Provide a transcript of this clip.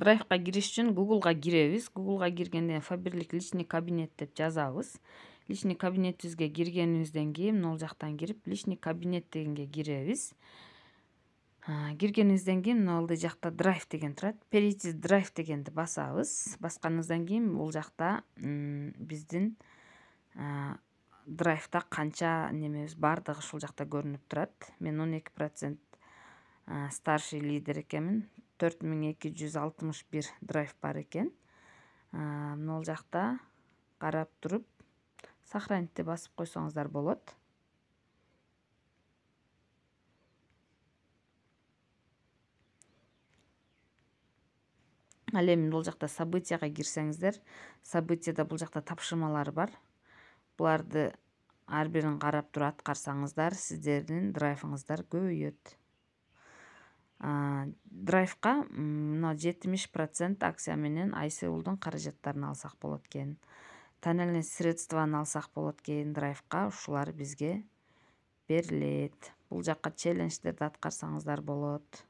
драйвка кириш үчүн Google'га киребиз. Google'га киргенде Фаберлик личный кабинет деп жазабыз. Личный кабинетибизге киргенибизден кийин могул жактан кирип личный кабинет дегенге киребиз. Киргенибизден кийин мына жакта драйв деген турат. Перейти драйв дегенди басабыз. Басканыбыздан кийин бул жакта биздин драйвда канча немебиз бардыгы ушул жакта көрүнүп турат. Мен 12% старший лидер экенмин. 4261 драйв бар экен. Могул жакта карап туруп сохранить басып койсоңуздар болот. Ал эми бул жакта событияга кирсеңиздер, событияда бул жакта тапшырмалар бар. Буларды ар бирин карап туруп аткарсаңыздар, сиздердин драйвыңыздар көбөйөт. Драйвка мына 70% акция менен iSeul'дун каражаттарын алсак болот экен. Тоннельный средстваны алсак болот экен драйвка, ушулар бизге берилет. Бул жакка челлендждерди аткарсаңыздар болот.